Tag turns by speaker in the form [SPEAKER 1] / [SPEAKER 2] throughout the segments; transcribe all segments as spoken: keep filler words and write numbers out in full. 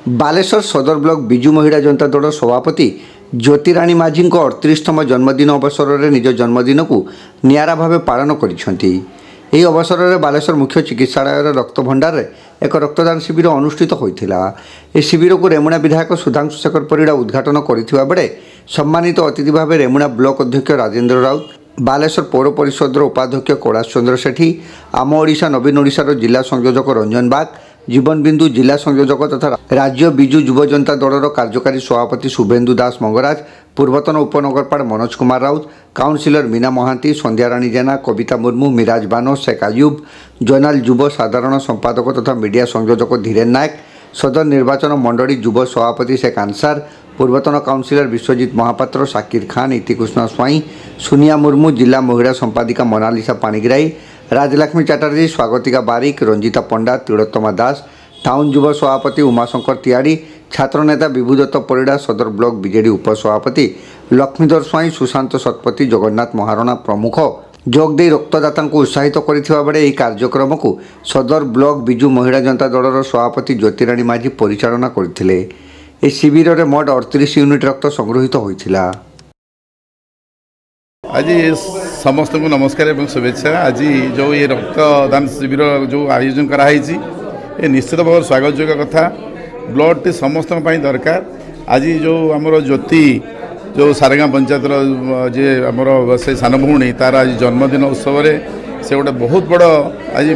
[SPEAKER 1] ବାଲେଶ୍ୱର ସଦର ବ୍ଲକ ବିଜୁ ମହିଳା ଜନତା ଦଳ ସଭାପତି ଜ୍ୟୋତିରାଣୀ ମାଝୀଙ୍କ ଅଠତିରିଶତମ ଜନ୍ମଦିନ ଅବସରରେ ନିଜ ଜନ୍ମଦିନକୁ ନିଆରା ଭାବେ ପାଳନ କରିଛନ୍ତି। ଏହି ଅବସରରେ ବାଲେଶ୍ୱର ମୁଖ୍ୟ ଚିକିତ୍ସାଳୟର ରକ୍ତଭଣ୍ଡାରରେ ଏକ ରକ୍ତଦାନ ଶିବିର ଅନୁଷ୍ଠିତ ହୋଇଥିଲା। ଏହି ଶିବିରକୁ ରେମୁଣା ବିଧାୟକ ସୁଧାଂଶୁ ଶେଖର ପରିଡ଼ା ଉଦ୍ଘାଟନ କରିଥିବା ବେଳେ ସମ୍ମାନିତ ଅତିଥି ଭାବେ ରେମୁଣା ବ୍ଲକ ଅଧ୍ୟକ୍ଷ ରାଜେନ୍ଦ୍ର ରାଉତ, ବାଲେଶ୍ୱର ପୌର ପରିଷଦର ଉପାଧ୍ୟକ୍ଷ କୈଳାସ ଚନ୍ଦ୍ର ସେଠୀ, ଆମ ଓଡ଼ିଶା ନବୀନ ଓଡ଼ିଶାର ଜିଲ୍ଲା ସଂଯୋଜକ ରଞ୍ଜନ ବାଗ, ଜୀବନ ବିନ୍ଦୁ ଜିଲ୍ଲା ସଂଯୋଜକ ତଥା ରାଜ୍ୟ ବିଜୁ ଯୁବ ଜନତା ଦଳର କାର୍ଯ୍ୟକାରୀ ସଭାପତି ଶୁଭେନ୍ଦୁ ଦାସ ମଙ୍ଗରାଜ, ପୂର୍ବତନ ଉପନଗରପାଳ ମନୋଜ କୁମାର ରାଉତ, କାଉନସିଲର ମୀନା ମହାନ୍ତି, ସନ୍ଧ୍ୟାରାଣୀ ଜେନା, କବିତା ମୁର୍ମୁ, ମିରାଜ ବାନୋ, ଶେଖ ଆୟୁବ, ଜୋନାଲ ଯୁବ ସାଧାରଣ ସମ୍ପାଦକ ତଥା ମିଡିଆ ସଂଯୋଜକ ଧୀରେନ ନାୟକ, ସଦର ନିର୍ବାଚନ ମଣ୍ଡଳୀ ଯୁବ ସଭାପତି ଶେଖ ଆନସାର, ପୂର୍ବତନ କାଉନସିଲର ବିଶ୍ୱଜିତ ମହାପାତ୍ର, ସାକିର ଖାନ, ଇତିକୃଷ୍ଣ ସ୍ୱାଇଁ, ସୁନିଆ ମୁର୍ମୁ, ଜିଲ୍ଲା ମହିଳା ସମ୍ପାଦିକା ମୋନାଲିସା ପାଣିଗ୍ରାହୀ, ରାଜଲକ୍ଷ୍ମୀ ଚାଟାର୍ଜୀ, ସ୍ୱାଗତିକା ବାରିକ, ରଞ୍ଜିତା ପଣ୍ଡା, ତିଳୋତ୍ତମା ଦାସ, ଟାଉନ୍ ଯୁବ ସଭାପତି ଉମାଶଙ୍କର ତିଆଡ଼ି, ଛାତ୍ରନେତା ବିଭୁଦତ୍ତ ପରିଡ଼ା, ସଦର ବ୍ଲକ ବିଜେଡି ଉପସଭାପତି ଲକ୍ଷ୍ମୀଧର ସ୍ୱାଇଁ, ସୁଶାନ୍ତ ଶତପଥୀ, ଜଗନ୍ନାଥ ମହାରଣା ପ୍ରମୁଖ ଯୋଗ ଦେଇ ରକ୍ତଦାତାଙ୍କୁ ଉତ୍ସାହିତ କରିଥିବା ବେଳେ ଏହି କାର୍ଯ୍ୟକ୍ରମକୁ ସଦର ବ୍ଲକ ବିଜୁ ମହିଳା ଜନତା ଦଳର ସଭାପତି ଜ୍ୟୋତିରାଣୀ ମାଝୀ ପରିଚାଳନା କରିଥିଲେ। ଏହି ଶିବିରରେ ମୋଟ ଅଠତିରିଶ ୟୁନିଟ୍ ରକ୍ତ ସଂଗୃହୀତ ହୋଇଥିଲା।
[SPEAKER 2] ଆଜି ସମସ୍ତଙ୍କୁ ନମସ୍କାର ଏବଂ ଶୁଭେଚ୍ଛା। ଆଜି ଯେଉଁ ଏ ରକ୍ତଦାନ ଶିବିର ଯେଉଁ ଆୟୋଜନ କରାହେଇଛି, ଏ ନିଶ୍ଚିତ ଭାବରେ ସ୍ୱାଗତଯୋଗ୍ୟ କଥା। ବ୍ଲଡ଼ଟି ସମସ୍ତଙ୍କ ପାଇଁ ଦରକାର। ଆଜି ଯେଉଁ ଆମର ଜ୍ୟୋତି, ଯେଉଁ ସାରେଗାଁ ପଞ୍ଚାୟତର ଯିଏ ଆମର ସେ ସାନ ଭଉଣୀ, ତାର ଆଜି ଜନ୍ମଦିନ ଉତ୍ସବରେ ସେ ଗୋଟେ ବହୁତ ବଡ଼ ଆଜି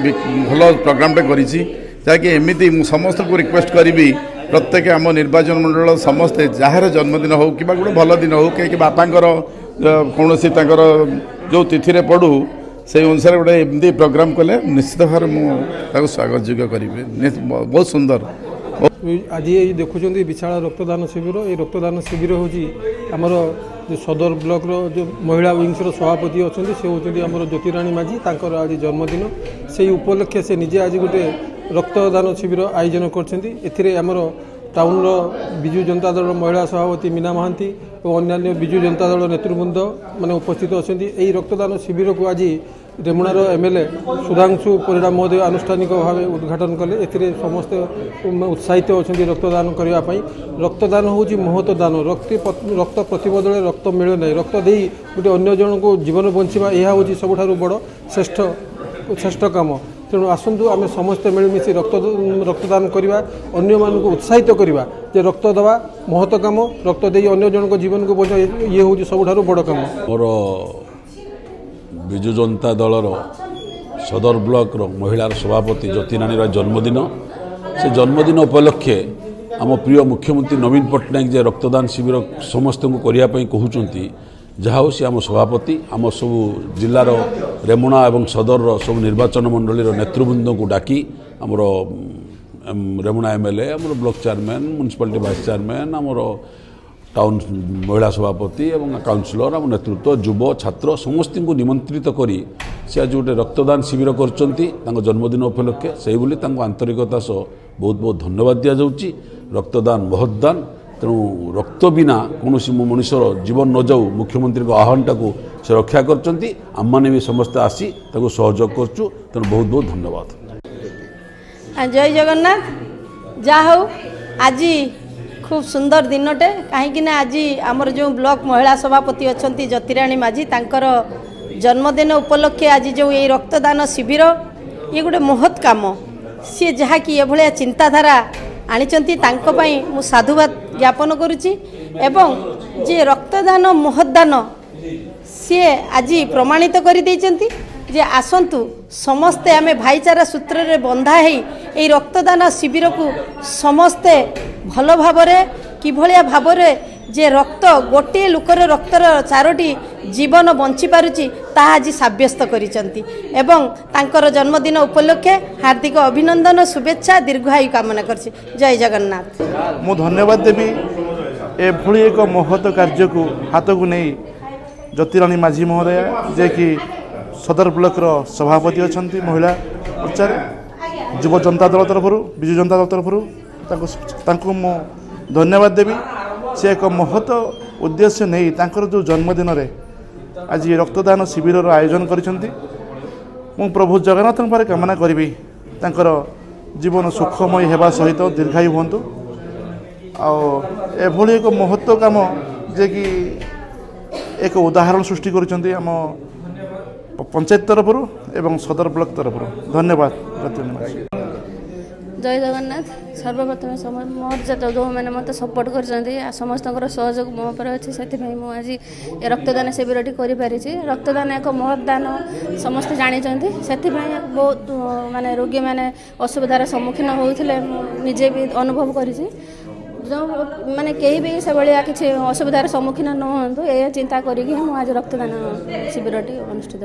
[SPEAKER 2] ଭଲ ପ୍ରୋଗ୍ରାମଟେ କରିଛି, ଯାହାକି ଏମିତି ମୁଁ ସମସ୍ତଙ୍କୁ ରିକ୍ୱେଷ୍ଟ କରିବି, ପ୍ରତ୍ୟେକ ଆମ ନିର୍ବାଚନ ମଣ୍ଡଳ ସମସ୍ତେ ଯାହାର ଜନ୍ମଦିନ ହେଉ କିମ୍ବା ଗୋଟେ ଭଲ ଦିନ ହେଉ କି ବାପାଙ୍କର କୌଣସି ତାଙ୍କର ଯେଉଁ ତିଥିରେ ପଡ଼ୁ, ସେଇ ଅନୁସାରେ ଗୋଟେ ଏମିତି ପ୍ରୋଗ୍ରାମ କଲେ ନିଶ୍ଚିତ ଭାବରେ ମୁଁ ତାକୁ ସ୍ୱାଗତ ଯୋଗ୍ୟ କରିବି। ବହୁତ ସୁନ୍ଦର।
[SPEAKER 3] ଆଜି ଏଇ ଦେଖୁଛନ୍ତି ବିଶାଳ ରକ୍ତଦାନ ଶିବିର। ଏଇ ରକ୍ତଦାନ ଶିବିର ହେଉଛି ଆମର ଯେଉଁ ସଦର ବ୍ଲକର ଯେଉଁ ମହିଳା ୱିଙ୍ଗସର ସଭାପତି ଅଛନ୍ତି, ସେ ହେଉଛନ୍ତି ଆମର ଜ୍ୟୋତିରାଣୀ ମାଝୀ। ତାଙ୍କର ଆଜି ଜନ୍ମଦିନ, ସେଇ ଉପଲକ୍ଷେ ସେ ନିଜେ ଆଜି ଗୋଟେ ରକ୍ତଦାନ ଶିବିର ଆୟୋଜନ କରିଛନ୍ତି। ଏଥିରେ ଆମର ଟାଉନର ବିଜୁ ଜନତା ଦଳର ମହିଳା ସଭାପତି ମୀନା ମହାନ୍ତି ଓ ଅନ୍ୟାନ୍ୟ ବିଜୁ ଜନତା ଦଳ ନେତୃବୃନ୍ଦ ମାନେ ଉପସ୍ଥିତ ଅଛନ୍ତି। ଏହି ରକ୍ତଦାନ ଶିବିରକୁ ଆଜି ରେମୁଣାର M L A Sudhanshu Parida ମହୋଦୟ ଆନୁଷ୍ଠାନିକ ଭାବେ ଉଦ୍ଘାଟନ କଲେ। ଏଥିରେ ସମସ୍ତେ ଉତ୍ସାହିତ ଅଛନ୍ତି ରକ୍ତଦାନ କରିବା ପାଇଁ। ରକ୍ତଦାନ ହେଉଛି ମହତ ଦାନ। ରକ୍ତ ରକ୍ତ ପ୍ରତିବଦଳରେ ରକ୍ତ ମିଳେ ନାହିଁ। ରକ୍ତ ଦେଇ ଗୋଟେ ଅନ୍ୟ ଜଣଙ୍କୁ ଜୀବନ ବଞ୍ଚିବା, ଏହା ହେଉଛି ସବୁଠାରୁ ବଡ଼ ଶ୍ରେଷ୍ଠ ଶ୍ରେଷ୍ଠ କାମ। ତେଣୁ ଆସନ୍ତୁ ଆମେ ସମସ୍ତେ ମିଳିମିଶି ରକ୍ତ ରକ୍ତଦାନ କରିବା, ଅନ୍ୟମାନଙ୍କୁ ଉତ୍ସାହିତ କରିବା ଯେ ରକ୍ତ ଦେବା ମହତ କାମ। ରକ୍ତ ଦେଇ ଅନ୍ୟ ଜଣଙ୍କ ଜୀବନକୁ ବଞ୍ଚାଇବା, ଇଏ ହେଉଛି ସବୁଠାରୁ ବଡ଼ କାମ।
[SPEAKER 4] ମୋର ବିଜୁ ଜନତା ଦଳର ସଦର ବ୍ଲକର ମହିଳାର ସଭାପତି ଜ୍ୟୋତିରାଣୀର ଜନ୍ମଦିନ। ସେ ଜନ୍ମଦିନ ଉପଲକ୍ଷେ ଆମ ପ୍ରିୟ ମୁଖ୍ୟମନ୍ତ୍ରୀ ନବୀନ ପଟ୍ଟନାୟକ ଯେ ରକ୍ତଦାନ ଶିବିର ସମସ୍ତଙ୍କୁ କରିବା ପାଇଁ କହୁଛନ୍ତି, ଯାହା ହେଉ ସେ ଆମ ସଭାପତି ଆମ ସବୁ ଜିଲ୍ଲାର ରେମୁଣା ଏବଂ ସଦରର ସବୁ ନିର୍ବାଚନ ମଣ୍ଡଳୀର ନେତୃବୃନ୍ଦଙ୍କୁ ଡାକି, ଆମର ରେମୁଣା ଏମ୍ ଏଲ୍ ଏ, ଆମର block chairman, municipality vice chairman, ଆମର ଟାଉନ୍ ମହିଳା ସଭାପତି ଏବଂ କାଉନସିଲର, ଆମ ନେତୃତ୍ୱ, ଯୁବ, ଛାତ୍ର ସମସ୍ତଙ୍କୁ ନିମନ୍ତ୍ରିତ କରି ସେ ଆଜି ଗୋଟେ ରକ୍ତଦାନ ଶିବିର କରିଛନ୍ତି ତାଙ୍କ ଜନ୍ମଦିନ ଉପଲକ୍ଷେ। ସେଇଭଳି ତାଙ୍କୁ ଆନ୍ତରିକତା ସହ ବହୁତ ବହୁତ ଧନ୍ୟବାଦ ଦିଆଯାଉଛି। ରକ୍ତଦାନ ମହତଦାନ, ତେଣୁ ରକ୍ତ ବିନା କୌଣସି ମଣିଷର ଜୀବନ ନ ଯାଉ, ମୁଖ୍ୟମନ୍ତ୍ରୀଙ୍କ ଆହ୍ୱାନଟାକୁ ସେ ରକ୍ଷା କରିଛନ୍ତି। ଆମମାନେ ବି ସମସ୍ତେ ଆସି ତାକୁ ସହଯୋଗ କରୁଛୁ। ତେଣୁ ବହୁତ ବହୁତ ଧନ୍ୟବାଦ।
[SPEAKER 5] ଜୟ ଜଗନ୍ନାଥ। ଯାହା ହଉ, ଆଜି ଖୁବ୍ ସୁନ୍ଦର ଦିନଟେ, କାହିଁକି ନା ଆଜି ଆମର ଯେଉଁ ବ୍ଲକ ମହିଳା ସଭାପତି ଅଛନ୍ତି ଜ୍ୟୋତିରାଣୀ ମାଝୀ, ତାଙ୍କର ଜନ୍ମଦିନ ଉପଲକ୍ଷେ ଆଜି ଯେଉଁ ଏଇ ରକ୍ତଦାନ ଶିବିର, ଇଏ ଗୋଟେ ମହତ୍ କାମ। ସିଏ ଯାହାକି ଏଭଳିଆ ଚିନ୍ତାଧାରା ଆଣିଛନ୍ତି, ତାଙ୍କ ପାଇଁ ମୁଁ ସାଧୁବାଦ ଜ୍ଞାପନ କରୁଛି। ଏବଂ ଯିଏ ରକ୍ତଦାନ ମହତଦାନ, ସିଏ ଆଜି ପ୍ରମାଣିତ କରିଦେଇଛନ୍ତି ଯେ ଆସନ୍ତୁ ସମସ୍ତେ ଆମେ ଭାଇଚାରା ସୂତ୍ରରେ ବନ୍ଧା ହେଇ ଏଇ ରକ୍ତଦାନ ଶିବିରକୁ ସମସ୍ତେ ଭଲ ଭାବରେ କିଭଳିଆ ଭାବରେ ଯେ ରକ୍ତ, ଗୋଟିଏ ଲୋକର ରକ୍ତର ଚାରୋଟି ଜୀବନ ବଞ୍ଚିପାରୁଛି, ତାହା ଆଜି ସାବ୍ୟସ୍ତ କରିଛନ୍ତି। ଏବଂ ତାଙ୍କର ଜନ୍ମଦିନ ଉପଲକ୍ଷେ ହାର୍ଦ୍ଦିକ ଅଭିନନ୍ଦନ, ଶୁଭେଚ୍ଛା, ଦୀର୍ଘାୟୁ କାମନା କରୁଛି। ଜୟ ଜଗନ୍ନାଥ।
[SPEAKER 6] ମୁଁ ଧନ୍ୟବାଦ ଦେବି ଏଭଳି ଏକ ମହତ କାର୍ଯ୍ୟକୁ ହାତକୁ ନେଇ ଜ୍ୟୋତିରାଣୀ ମାଝୀ ମହୋଦୟା, ଯିଏକି ସଦର ବ୍ଲକର ସଭାପତି ଅଛନ୍ତି ମହିଳା ମୋର୍ଚ୍ଚାରେ, ଯୁବ ଜନତା ଦଳ ତରଫରୁ, ବିଜୁ ଜନତା ଦଳ ତରଫରୁ ତାଙ୍କୁ ତାଙ୍କୁ ମୁଁ ଧନ୍ୟବାଦ ଦେବି। ସେ ଏକ ମହତ ଉଦ୍ଦେଶ୍ୟ ନେଇ ତାଙ୍କର ଯେଉଁ ଜନ୍ମଦିନରେ ଆଜି ରକ୍ତଦାନ ଶିବିରର ଆୟୋଜନ କରିଛନ୍ତି। ମୁଁ ପ୍ରଭୁ ଜଗନ୍ନାଥଙ୍କ ପାଖରେ କାମନା କରିବି ତାଙ୍କର ଜୀବନ ସୁଖମୟ ହେବା ସହିତ ଦୀର୍ଘାୟୁ ହୁଅନ୍ତୁ। ଆଉ ଏଭଳି ଏକ ମହତ୍ଵ କାମ ଯିଏକି ଏକ ଉଦାହରଣ ସୃଷ୍ଟି କରିଛନ୍ତି ଆମ ପଞ୍ଚାୟତ ତରଫରୁ ଏବଂ ସଦର ବ୍ଲକ ତରଫରୁ। ଧନ୍ୟବାଦ ଜ୍ୟୋତିରାଣୀ ମାଝୀ।
[SPEAKER 7] ଜୟ ଜଗନ୍ନାଥ। ସର୍ବପ୍ରଥମେ ମୋର ଯେତେ ଯେଉଁମାନେ ମୋତେ ସପୋର୍ଟ କରିଛନ୍ତି ଆଉ ସମସ୍ତଙ୍କର ସହଯୋଗ ମୋ ଉପରେ ଅଛି, ସେଥିପାଇଁ ମୁଁ ଆଜି ଏ ରକ୍ତଦାନ ଶିବିରଟି କରିପାରିଛି। ରକ୍ତଦାନ ଏକ ମହତ୍ ଦାନ, ସମସ୍ତେ ଜାଣିଛନ୍ତି। ସେଥିପାଇଁ ବହୁତ ମାନେ ରୋଗୀମାନେ ଅସୁବିଧାର ସମ୍ମୁଖୀନ ହେଉଥିଲେ, ମୁଁ ନିଜେ ବି ଅନୁଭବ କରିଛି। ଯେଉଁ ମାନେ କେହି ବି ସେଭଳିଆ କିଛି ଅସୁବିଧାର ସମ୍ମୁଖୀନ ନ ହୁଅନ୍ତୁ, ଏହା ଚିନ୍ତା କରିକି ମୁଁ ଆଜି ରକ୍ତଦାନ ଶିବିରଟି ଅନୁଷ୍ଠିତ।